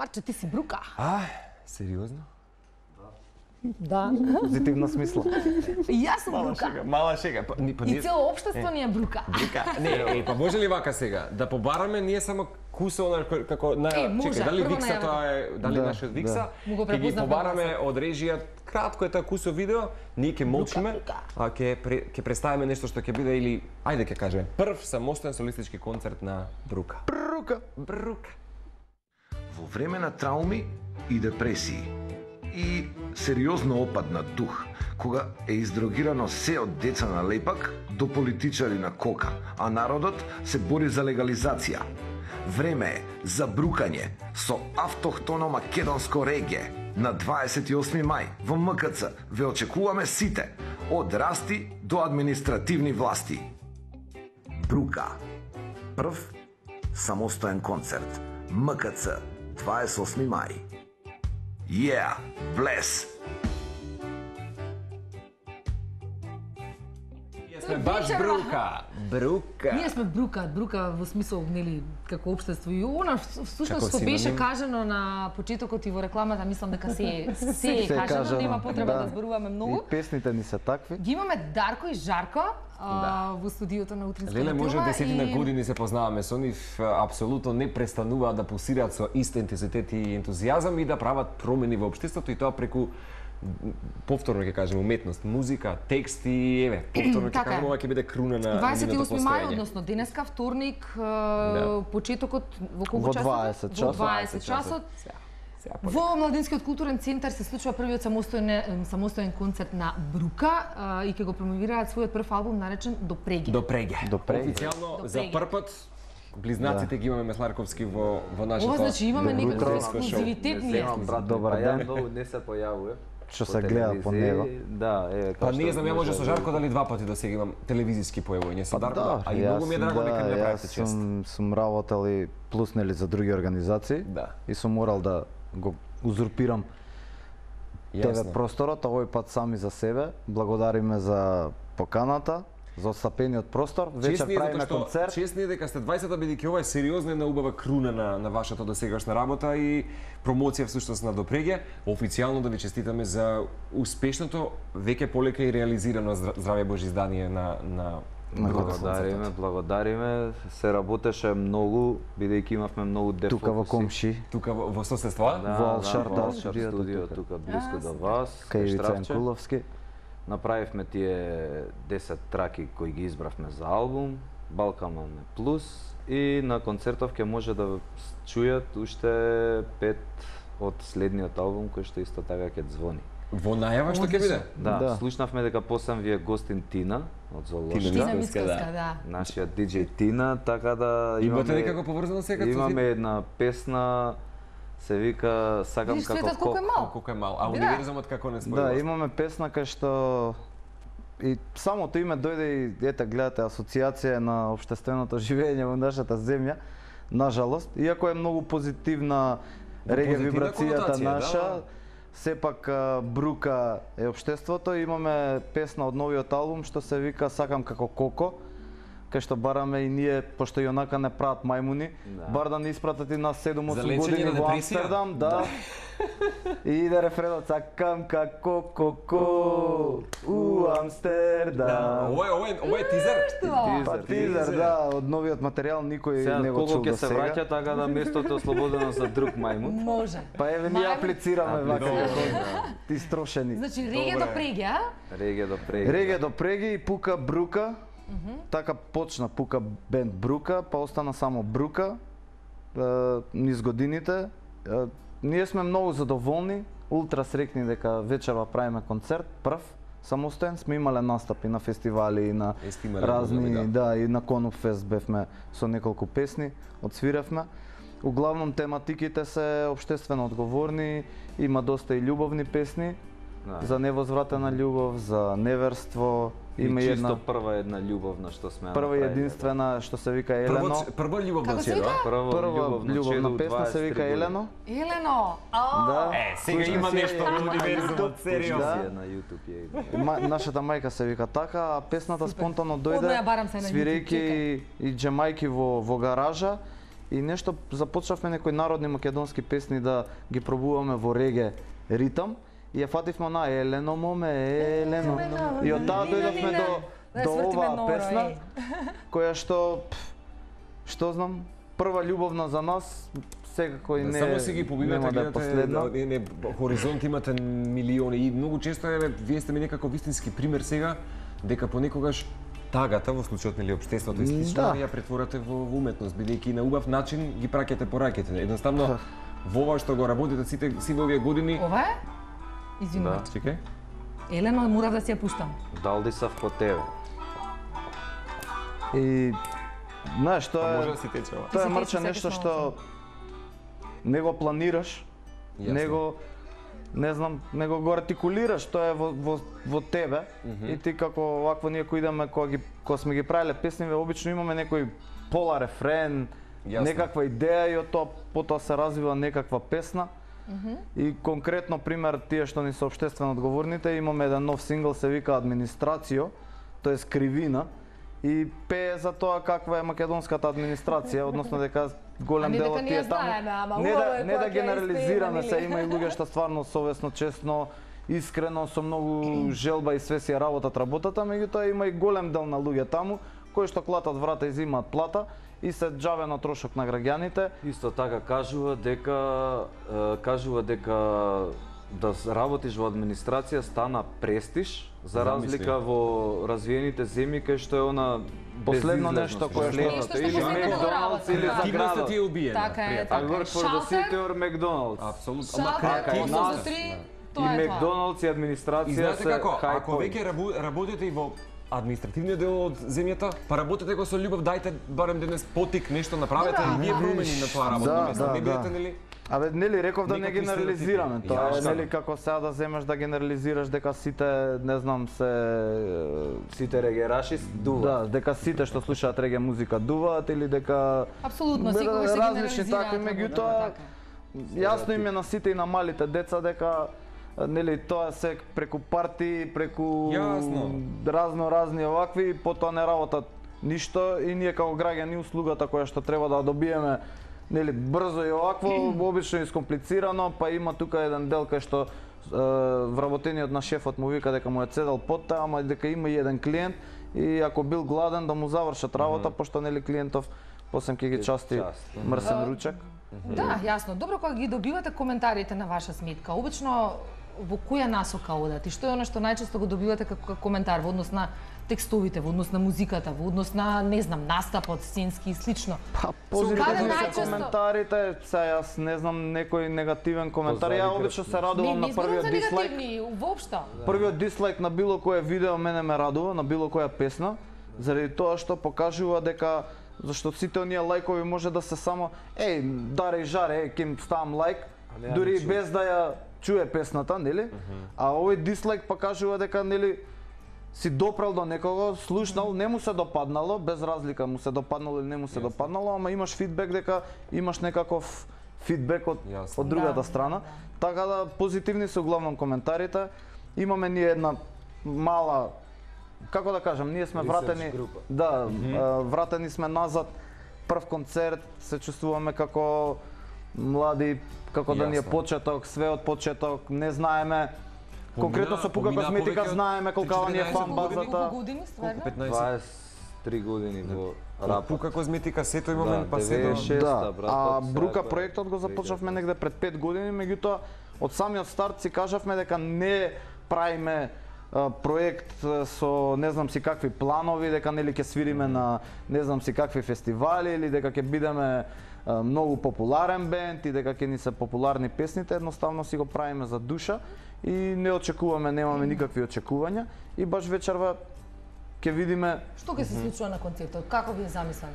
Марче, ти си брука. Сериозно? Да. Позитивна смисла. И јас сум брука. Мала шега. И цело општество ни е брука. Не, па може ли вака сега да побараме ние само кусо како може, чекај, дали прво Викса тоа е, дали нашиот Викса? Ќе ги побараме од режија, кратко е тоа кусо видео, ние ќе молчиме, а ќе представиме нешто што ќе биде или ајде ќе кажеме прв самостоен солистички концерт на Брука. Брука. Во време на трауми и депресии и сериозно опад на дух, кога е издрогирано се од деца на лепак до политичари на кока, а народот се бори за легализација. Време е за брукање со автохтоно македонско реге. На 28 мај во МКЦ ве очекуваме сите, од расти до административни власти. Брука. Прв самостоен концерт. МКЦ 28 мај. Yeah, bless! Сме баш брука. Брука. Ние сме брука во смисол, нели, како општество. И она всушност што беше кажано на почетокот и во рекламата, мислам дека се е кажано, нема потреба да зборуваме многу. И песните ни се такви. Ги имаме Дарко и Жарко во студиото на Утринска Леле, може мотива 10 години се познаваме со нив, апсолутно не престануваат да пулсираат со ист интензитет и ентузијазам и да прават промени во општеството и тоа преку повторно ќе кажеме уметност, музика, тексти, еве, повторно ќе кажеме ова ќе биде круна на 28 мај, односно денеска вторник, почетокот во колку часот? Во 20 часот. Во Младинскиот културен центар се случува првиот самостоен концерт на Брука и ќе го промовираат својот прв албум наречен До преге. До преге. Официјално за прв пат близнаците ги имаме Месларковски во нашето. Ова значи имаме некаков ексклузивитет ние. Брат, добар ден. Многу не се појавува. Што се гледа по него. Да, па не знам, ја може со Жарко дали два пати да сега имам телевизиски појавување со Дарко, а и многу ми е драго дека ми направите чест. Сум работел и плуснели за други организации и сум морал да го узурпирам ТВ просторот, овој пат сами за себе. Благодариме за поканата, за отстапениот простор. Вечер правиме концерт. Честни дека сте 20-та, бидејќи ова е сериозна една убава круна на вашата досегашна работа и промоција всушност на Допреге. Официјално да ви честитаме за успешното, веќе полека и реализирано Здравје Божи издание на Благодариме. Се работеше многу, бидејќи имавме многу дефокуси. Тука во Комши. Тука во соседство? Во Алшар, студио, тука близко до вас. Кај Ивица Јанкуловски. Направивме тие 10 траки кои ги избравме за албум, Балканон плюс, и на концертов ќе може да чујат уште 5 од следниот албум кој што исто така ќе звони. Во најава што ќе биде? Да, слушнавме дека посам ви е гостин Тина од Золошка. Тина Мицковска, да. Нашиот диџеј Тина, така да имате некако поврзано сега? Имаме една песна се вика Сакам како колку е мал. А универзумот како не спојува? Да, имаме песна кај што и самото име дојде и ете гледате асоциација на општественото живење во нашата земја. Нажалост, иако е многу позитивна реге вибрацијата наша, сепак Брука е општеството. Имаме песна од новиот албум што се вика Сакам како Коко, кај што бараме и ние, пошто и онака не прават мајмуни, бар да не испратат и нас 7-8 години во Амстердам, да. И иде рефренот Сакам како Коко у Амстердам. Ова е тизер? Тизер, да, од новиот материјал никој не го чул до сега. Колку ќе се враќа така да местото е ослободено за друг мајмун? Може. Па еве ние аплицираме вака ти строшени. Значи реге до преге, а? Реге до преге. Реге до преге и Пука Брука. Така почна Пука бенд Брука, па остана само Брука низ годините. Ние сме многу задоволни, ултра срекни дека вечерва правиме концерт, прв, самостоен, сме имале настапи на фестивали и на разни, да, и на Конуп Фест бевме со неколку песни, одсвиревме. Углавном тематиките се општествено одговорни, има доста и љубовни песни, за невозвратена љубов, за неверство. Има чисто прва една љубовна што сме направили. Прва единствена што се вика Елено. Прва љубовна чедо? Прва љубовна песна се вика Елено. Елено. Да. Сега има нешто во универзумот, сериозно. На YouTube е. Нашата мајка се вика така, а песната спонтано дојде свирејќи и џемајки во гаража и нешто започнавме некои народни македонски песни да ги пробуваме во реге ритам и ја фативме на Елено моме, Елено. И од таа дојдовме до оваа песна која што знам, прва љубовна за нас, секако и не само си ги побивате, гледате, хоризонт имате милиони и многу често вие сте ми некако вистински пример сега дека понекогаш тагата во случајот нели општеството и слично ја претворате во уметност, бидејќи на убав начин ги праќате пораките. Едноставно во ова што го работите сите овие години. Ова е? Извинувам. Да, чекај. Елено, морав да си ја пуштам. Далдисав по тебе. И знаеш, тоа може да си тече ова. Тоа е мрче нешто што не го планираш, не го го артикулираш, тоа е во тебе и ти како вакво ние кои идеме кога сме ги правеле песниве, обично имаме некој пола рефрен, некаква идеја и од тоа потоа се развива некаква песна. И конкретно пример тие што ни се општествено одговорните, имаме еден нов сингл се вика Администрацијо, тоа е Кривина и пее за тоа каква е македонската администрација, односно дека голем дел од тие таму. Не да генерализираме се, има и луѓе што стварно совесно, честно, искрено, со многу желба и свесија работата, меѓутоа има и голем дел на луѓе таму кои што клатат врата и зимаат плата и се џавено трошок на граѓаните. Исто така кажува дека да работиш во администрација стана престиж, за разлика во развиените земји кај што е она последно нешто кое следното или Макдоналдс или Креативноста ти е убиена. Така е, така. I work for the city or McDonald's. Апсолутно. Шалтер, и Макдоналдс и администрација се хај. Ако веќе работите и во административниот дел од земјата, па работете го со љубов, дајте барем денес потик, нешто направете и вие промени на тоа работно место. Не бидете нели? Абе, нели реков да не генерализираме, тоа е нели како сега да земеш да генерализираш дека сите, не знам, сите регераши дуваат. Да, дека сите што слушаат реге музика дуваат или дека апсолутно секогаш се генерализираат. Такви, меѓутоа јасно им е на сите и на малите деца дека нели тоа се преку парти, преку разни овакви, потоа не работат ништо и ние како граѓани услугата која што треба да добиеме нели брзо и овакво, обично е искомплицирано, па има тука еден дел кај што вработениот на шефот му вика дека му е цедал потта, ама дека има и еден клиент и ако бил гладен да му завршат работа, пошто нели клиентов после ќе ги части мрсен ручек. Да, јасно. Добро, кога ги добивате коментарите на ваша сметка, обично во која насока одат и што е она што најчесто го добивате како коментар во однос на текстовите, во однос на музиката, во однос на, не знам, настапот, сценски и слично? Па, позитивни се коментарите, јас не знам некој негативен коментар, ја обично се радувам на првиот дислайк. Не воопшто. Првиот дислайк на било кое видео мене ме радува, на било која песна, заради тоа што покажува дека зашто сите оние лајкови може да се само даре и жаре, ќе им ставам лајк, дури без да ја чуе песната, нели? А овој дислайк покажува дека нели си допрел до некого, слушнал, не му се допаднало, без разлика му се допаднало или не му се допаднало, ама имаш фидбек дека имаш некаков фидбек од другата страна. Така да позитивни се главно коментарите. Имаме ние една мала, како да кажам, ние сме вратени, да, вратени сме назад. Прв концерт, се чувствуваме како млади, како да ни е почеток, све од почеток, не знаеме. Конкретно со Пука Козметика знаеме колкава ни е фан базата. Колку години стварно? 23 години во рапот. Пука Козметика сето имаме, па сето. Да, а Брука проектот го започнавме негде пред 5 години, меѓутоа од самиот старт си кажавме дека не правиме проект со не знам си какви планови, дека нели ќе свириме на не знам си какви фестивали или дека ќе бидеме многу популарен бенд и дека ќе ни се популарни песните, едноставно си го правиме за душа и не очекуваме, немаме никакви очекувања и баш вечерва ќе видиме што ќе се случува на концертот, како ви е замислен?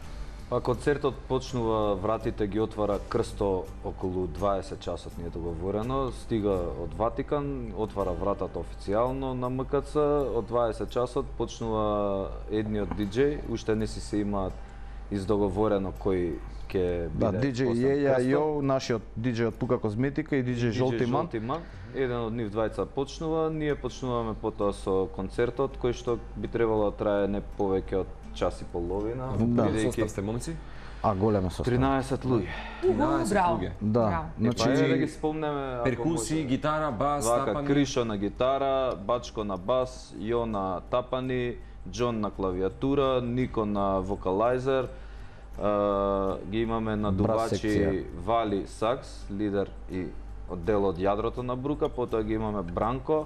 Па концертот почнува, вратите ги отвара Крсто околу 20 часот ни е договорено, стига од Ватикан, отвара вратата официјално на МКЦ, од 20 часот почнува едниот диџеј, уште не си се имаат издоговорено кој ќе Да, биде DJ Костан Јеја Крстов. Јо, нашиот DJ од Пука Козметика и DJ Жолти Ман. Жолти Ман. Еден од нив двајца почнува, ние почнуваме потоа со концертот кој што би требало да трае не повеќе од час и половина, Да. Состав сте момци? А голема состав. 13 луѓе. 13 Браво. луѓе. Да, Браво. значи Па е да ги спомнеме ако Перкусии, може. гитара, бас, Вака, тапани. Кришо на гитара, Бачко на бас, Јо на тапани, Џон на клавиатура, Нико на вокалайзер, ги имаме на Брас дувачи секција. Вали сакс, лидер и дел од јадрото на Брука, потоа ги имаме Бранко,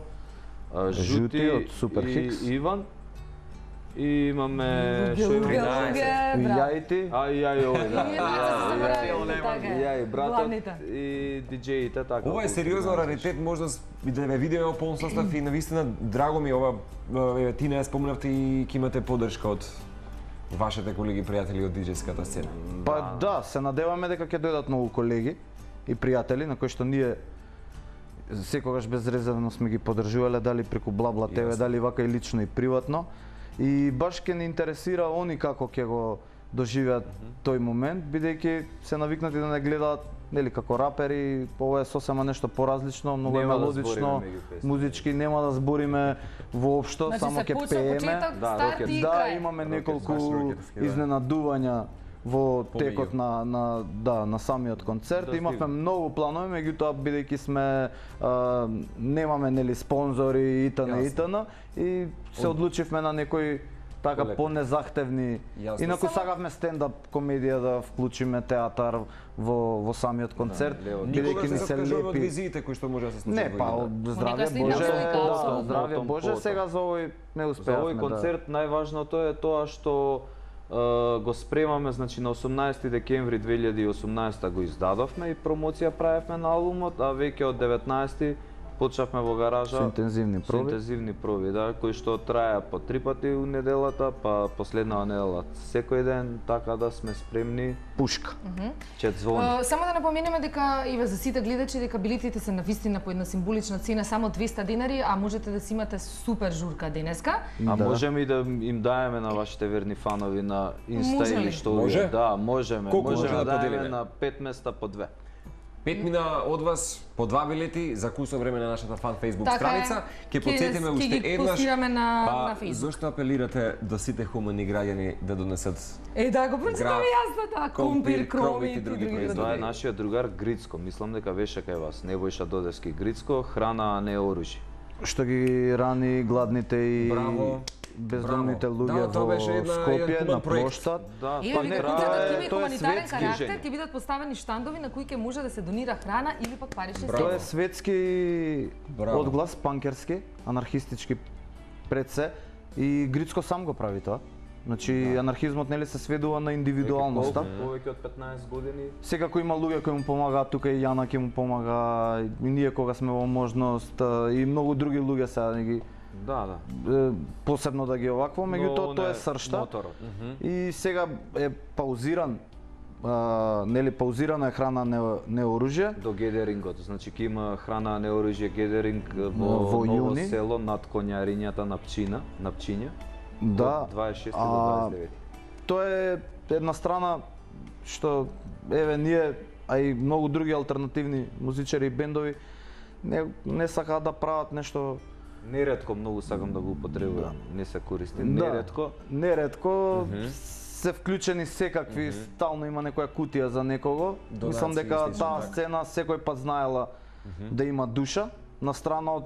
Жути од Супер и Хикс. Иван. И имаме што имаме? Јајти. Ај, овој, да. Ја и братот и диџеите така. Ова е сериозно раритет, можност и да ве видиме во полн состав и навистина драго ми е ова, еве ти не ја спомнавте и ќе имате поддршка од вашите колеги пријатели од диџејската сцена. Па да, се надеваме дека ќе дојдат многу колеги и пријатели на кои што ние секогаш безрезервно сме ги поддржувале, дали преку Бла ТВ, Јасно. дали вака и лично и приватно. И баш ќе ни интересира они како ќе го доживеат тој момент, бидејќи се навикнати да не гледаат нели како рапери, ова е сосема нешто поразлично, многу е Нема да мелодично, збориме меѓу песните. музички нема да збориме воопшто, Значи само се ќе почна пееме. почеток, Да, старт рокет. и Да, крај. имаме Рокет, неколку баш рокетски, да. изненадувања во текот Помеѓу. на самиот концерт. Да, Имавме стигна. многу планови, меѓутоа бидејќи сме немаме нели спонзори итн и се одлучивме на некои така Полеко. понезахтевни. Јасно. Инаку Само- сакавме стендап комедија да вклучиме театар во самиот концерт, лево. Никогаш бидејќи не ни се се откажуваме од лепи. визиите кои што може да се случат. Не, во па играта. од здравје Некој Боже, слика слика, да, здравје потом, Боже, потом. сега за овој не За успеавме овој да. концерт најважното е тоа што го спремаме, значи на 18 декември 2018 го издадовме и промоција правевме на албумот, а веќе од 19 почнавме во гаража Со интензивни со проби. интензивни проби, да, кои што траја по 3 пати у неделата, па последнава недела секој ден, така да сме спремни. Пушка. Чет звони. Само да напоменеме дека и за сите гледачи дека билетите се навистина по една символична цена само 200 денари, а можете да си имате супер журка денеска. А Да. можеме и да им даеме на вашите верни фанови на Инста Може ли? или што Може? вие? Да, можеме. Колку Можеме може да да даеме поделиме? на 5 места по 2. 5 мина од вас по 2 билети за кусно време на нашата фан Facebook Така е. страница. Ќе Ќе потсетиме ги уште еднаш. постираме на Facebook. Зошто апелирате до сите хумани граѓани да донесат Да го прочитаме Граф, јасно, да, компир, компир, кроми кромит и и други други производи. Тоа е продукти. нашиот другар Грицко. Мислам дека беше кај вас. Небојша Додевски Грицко, храна, а не оружје. Што ги рани гладните и Браво. бездомните Браво. луѓе Да, тоа во беше еден Скопје хуман на проект. плоштад. Да, Еве Па вика не, концертот тоа ќе е- има тоа е хуманитарен светски карактер, жени. ќе бидат поставени штандови на кои ќе може да се донира храна или пак парични Браво. Тоа е средства. светски Браво. одглас, панкерски, анархистички пред се и Грицко сам го прави тоа. Значи анархизмот нели се сведува на индивидуалноста. Повеќе од 15 години. Секако има луѓе кои му помагаат, тука и Јана ќе му помага, и ние кога сме во можност, и многу други луѓе сега не ги Да, да. посебно да ги овакво, меѓутоа Но тоа не е сршта. Моторот. И сега е паузиран, нели паузирана е храна не оружје. До гедерингот, значи ќе има храна, не оружје, гедеринг Во во Ново јуни. село над конјарињата на Пчиња. Да, Од 26 а, до 29. тоа е една страна што еве ние, а и многу други алтернативни музичари и бендови не сакаат да прават нешто. Неретко многу сакам да го употребувам. Не се користи. Неретко. Неретко се вклучени секакви, стално има некоја кутија за некого. Донации, Мислам дека слично таа така. сцена секој пат знаела да има душа, на страна од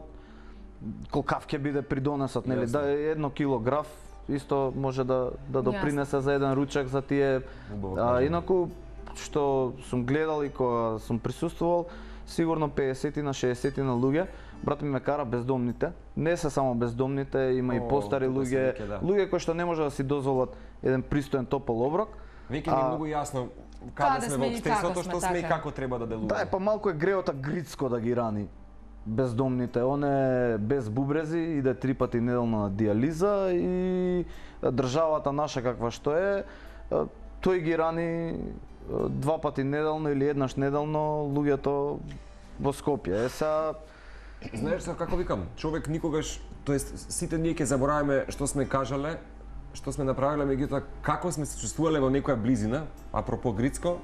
колкав ќе биде придонесот, нели? Јасно. Да е 1 килограф исто може да допринесе за еден ручак за тие. Убаво кажано. Инаку што сум гледал и кога сум присуствувал, сигурно 50 на 60 на луѓе. Брат ми ме кара бездомните. Не се само бездомните, има и О, постари тука се луѓе, веќе, да. луѓе кои што не може да си дозволат еден пристоен топол оброк. Веќе ни е многу јасно каде сме во сме и како општеството, сме, што сме и така. како треба да делуваме. Да, е па малку е греота Грицко да ги рани бездомните. Он е без бубрези, иде 3 пати неделно на диализа и државата наша каква што е, тој ги рани 2 пати неделно или еднаш неделно луѓето во Скопје. Е сега Знаеш како викам, човек никогаш, тоест сите ние ќе забораваме што сме кажале, што сме направиле, меѓутоа како сме се чувствувале во некоја близина, апропо Грицко,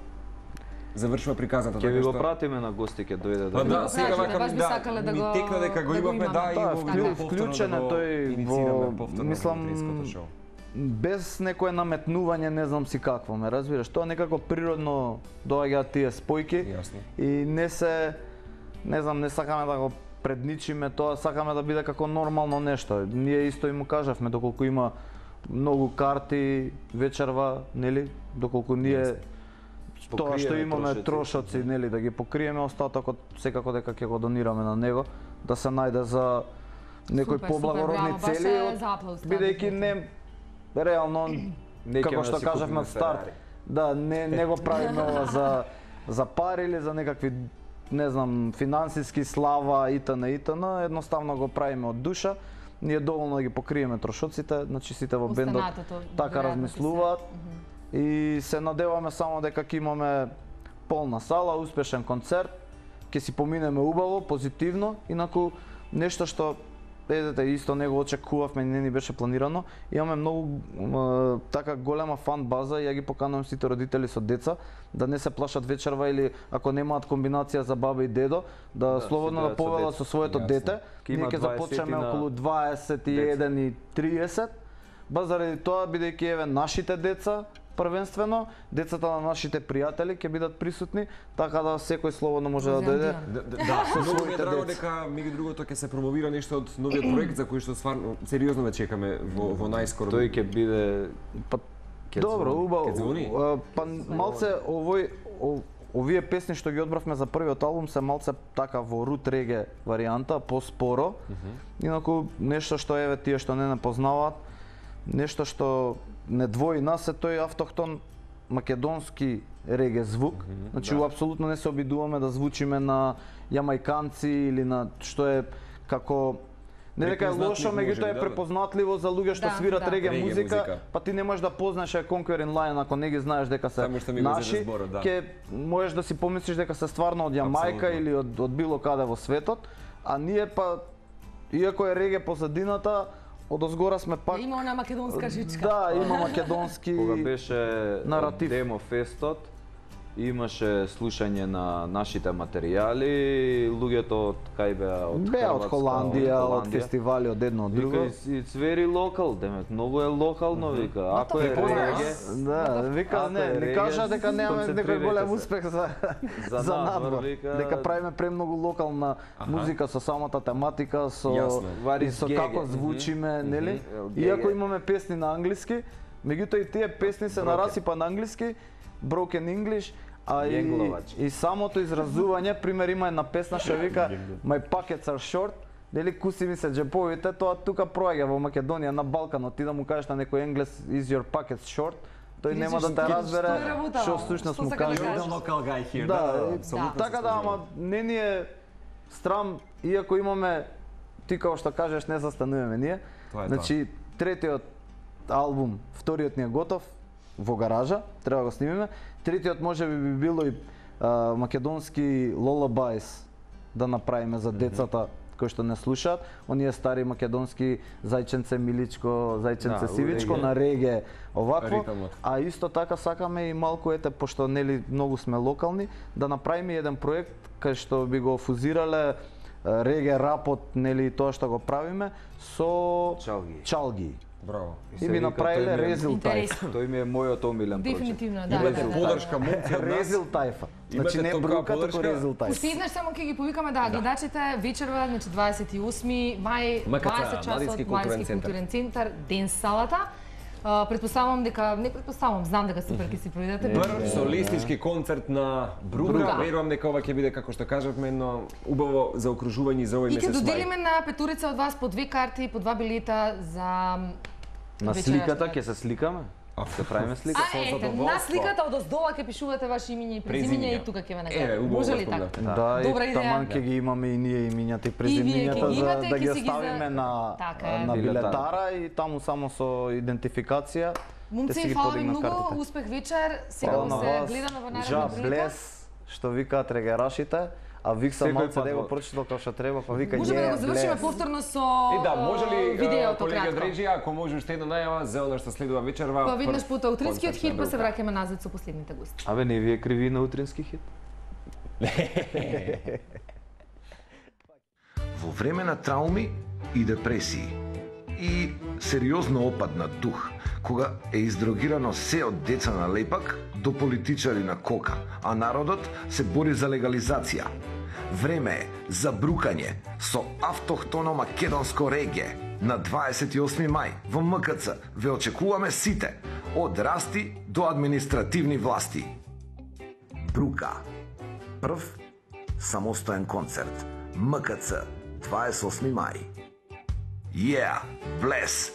завршува приказната Ќе ви така го што... пратиме на гости, ќе дојде Па да, го сега кажете, вака баш ми би сакале да ми го- текна дека го да го имавме, имаме. да, и Да, го повторно вклучен е да го тој инициираме во- повторно мислам, во Грицкото шоу. без некое наметнување, не знам си какво, ме разбираш, тоа некако природно доаѓаат тие спојки Јасно. и не знам, не сакаме да го предничиме тоа, сакаме да биде како нормално нешто. Ние исто и му кажавме, доколку има многу карти вечерва, нели, доколку ние тоа што Покриеме имаме трошоци, нели, да ги покриеме, остатокот секако дека ќе го донираме на него, да се најде за некои Супер, поблагородни супер, браво, цели, баш е за аплауз, бидејќи да, не реално Не како ќе што си кажавме купиме од старт, Ферари. да не го правиме ова за пари или за некакви не знам финансиски слава итн, едноставно го правиме од душа. Ние доволно да ги покриеме трошоците, значи сите во бендот Останатото, така веројатно, размислуваат и се надеваме само дека ќе имаме полна сала, успешен концерт, ќе си поминеме убаво, позитивно, инаку нешто што едете исто него очекувавме и не ни беше планирано. Имаме многу така голема фан база и ја ги поканувам сите родители со деца да не се плашат вечерва или ако немаат комбинација за баба и дедо, да слободно си да дојдат со повелат деца. со своето Јасно. дете. Ке има Ние ќе 20 започнеме на околу 21 и 30. Ба заради тоа бидејќи еве нашите деца првенствено, децата на нашите пријатели ќе бидат присутни, така да секој слободно може да дојде. Да, многу ми е своите драго деца. дека меѓу другото ќе се промовира нешто од новиот проект за кој што стварно сериозно ве чекаме во најскоро. Тој ќе биде Па Ке добро, звони. убаво. Ке звони? Па малце овие песни што ги одбравме за првиот албум се малце така во рут реге варијанта, поспоро. Инаку нешто што еве тие што не познаваат, нешто што не двои нас е тој автохтон македонски реге звук. Значи апсолутно не се обидуваме да звучиме на јамајканци или на што е како не дека е лошо, Препознатливо меѓутоа може е би, да. препознатливо за луѓе што Да, свират да. реге Реге музика, музика. па ти не можеш да познаеш Conquering Lion ако не ги знаеш дека се Само што ми го наши, зеде зборот, да. ќе можеш да си помислиш дека се стварно од Јамајка Апсолутно. или од било каде во светот, а ние па иако е реге позадината, одозгора сме пак Има она македонска жичка. да, има македонски Кога беше наратив. Демо фестот, имаше слушање на нашите материјали, луѓето од кај беа од беа од Хрватска, Холандија, од фестивали од едно од друго. Вика, it's very local, демек, многу е локално, вика. Ако е Препознаваш? реге, Да, вика Ако не, е не реге, кажа дека немаме некој концентрирайте голем се. успех за За надвор, надвор, вика. дека правиме премногу локална музика со самата тематика, со Јасно. What и is со gege? како звучиме, нели? Геге. Иако имаме песни на англиски, меѓутоа и тие песни се на расипа на англиски, broken English, а Јенгловач. и самото изразување, пример има една песна што вика My pockets are short, нели куси ми се џеповите, тоа тука проаѓа во Македонија на Балканот, ти да му кажеш на некој енглес is your pockets short, тој нема да те разбере што е работа, што всушност што му сака да кажува. кажеш? local guy here. Да, апсолутно така се да, слажувам. ама не ни е страм, иако имаме, ти како што кажеш, не застануваме ние. Тоа е Значи, третиот албум, вториот ни е готов, во гаража, треба да го снимиме. Третиот може би било и македонски lullabies да направиме за децата кои што не слушаат, оние стари македонски зајченце миличко, зајченце Да, сивичко реге. на реге овакво, Ритамот. а исто така сакаме и малку ете пошто нели многу сме локални да направиме еден проект кај што би го фузирале реге рапот нели тоа што го правиме со Чалги. чалги. Браво. И се би вика, направиле тој ми е- резил тајфа. Интересно. Тој ми е мојот омилен проект. Дефинитивно, да. Имате да, да. подршка момци од нас. Резил тајфа. Значи Имате не толкова брука, туку подршка? резил тајфа. Уште еднаш само ќе ги повикаме да гледачите вечерва, значи 28 мај, МКЦ, 20 часот, Младински културен Младински центар. културен центар, ден салата. Предпоставам дека, не предпоставам, знам дека супер ќе си проведете. Прв солистички концерт на Бруга. Бруга. Верувам дека ова ќе биде како што кажавме едно убаво заокружување за овој И ќе месец мај. доделиме на петурица од вас по 2 карти, по 2 билета за На вечерашниот. сликата ќе се сликаме? Ќе правиме слика? А ете, на задоволство. сликата од оздола ќе пишувате ваше имиње и презимиње и тука ќе ве нагледаме. убаво Може ли го така? спомнавте. Да, Добра и идеја. таман ќе ги имаме и ние имињата и И вие ќе презимињата ги за имате, да ќе ги си ги оставиме на Така е. на Билетара. билетара и таму само со идентификација. те си Момци, ги фала ви подигнат многу, картите. успех вечер. Сега Фала на се вас. гледаме во Жа наредна прилика. блес, што викаат регерашите, А Викса Секој малце пат не го во- прочитал како што треба, па вика Можеме да го завршиме блес. повторно со И да, може ли видеото колега кратко? Дреджи, ако може уште една најава за она што следува вечерва? Па виднаш прв пута утринскиот концерт на хит, па се Брука. враќаме назад со последните гости. Абе, не ви е криви на утрински хит? Во време на трауми и депресии и сериозно опад на дух, кога е издрогирано се од деца на лепак до политичари на кока, а народот се бори за легализација. Време е за брукање со автохтоно македонско реге. На 28 мај во МКЦ ве очекуваме сите, од расти до административни власти. Брука. Прв самостоен концерт. МКЦ 28 мај. Yeah, bless.